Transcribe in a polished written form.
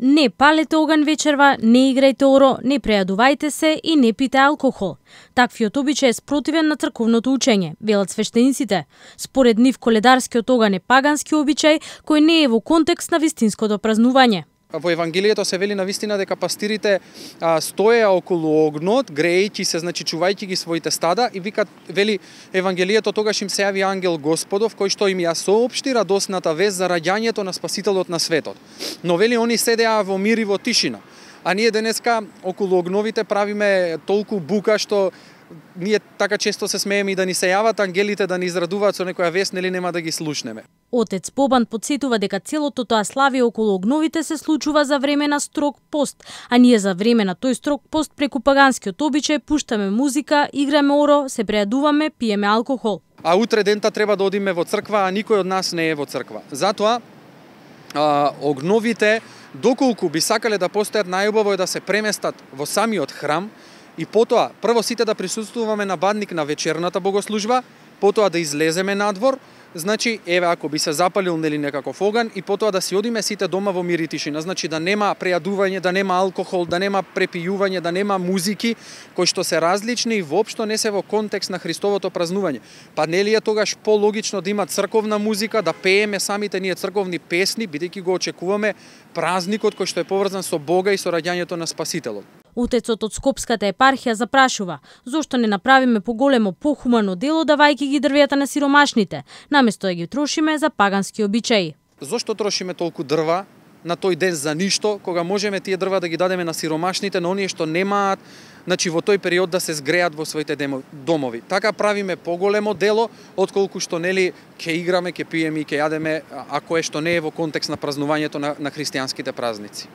Не палете оган вечерва, не играјте оро, не прејадувајте се и не пите алкохол. Таквиот обичај е спротивен на црковното учење, велат свештениците. Според нив коледарскиот оган е пагански обичај кој не е во контекст на вистинското празнување. Во Евангелието се вели на вистина дека пастирите стоеа околу огнот, грејќи се, значи чувајќи ги своите стада, и вели Евангелието, тогаш им се јави ангел Господов кој што им ја соопшти радосната вест за раѓањето на Спасителот на светот. Но вели они седеа во мир и во тишина. А ние денеска околу огновите правиме толку бука што ние така често се смееме и да ни се јават ангелите да ни израдуваат со некоја вест, нели нема да ги слушнеме. Отец Бобан подсетува дека целото тоа славие околу огновите се случува за време на строг пост, а ние за време на тој строг пост преку паганскиот обичај пуштаме музика, играме оро, се прејадуваме, пиеме алкохол. А утре дента треба да одиме во црква, а никој од нас не е во црква. Затоа огновите, доколку би сакале да постојат, најубаво е да се преместат во самиот храм и потоа прво сите да присуствуваме на бадник на вечерната богослужба, потоа да излеземе надвор. Значи, еве, ако би се запалил нели некаков оган, и потоа да си одиме сите дома во мир и тишина. Значи, да нема прејадување, да нема алкохол, да нема препијување, да нема музики, кои што се различни и воопшто не се во контекст на Христовото празнување. Па нели е тогаш пологично да има црковна музика, да пееме самите ние црковни песни, бидејќи го очекуваме празникот кој што е поврзан со Бога и со раѓањето на Спасителот. Утецот од Скопската епархија запрашува зошто не направиме поголемо, похумано дело давајќи ги дрвјата на сиромашните, наместо да ги трошиме за пагански обичаи. Зошто трошиме толку дрва на тој ден за ништо, кога можеме тие дрва да ги дадеме на сиромашните, на оние што немаат, значи во тој период да се згреат во своите домови. Така правиме поголемо дело, отколку што нели ќе играме, ќе пиеме и ќе јадеме, ако е што не е во контекст на празнувањето на христијанските празници.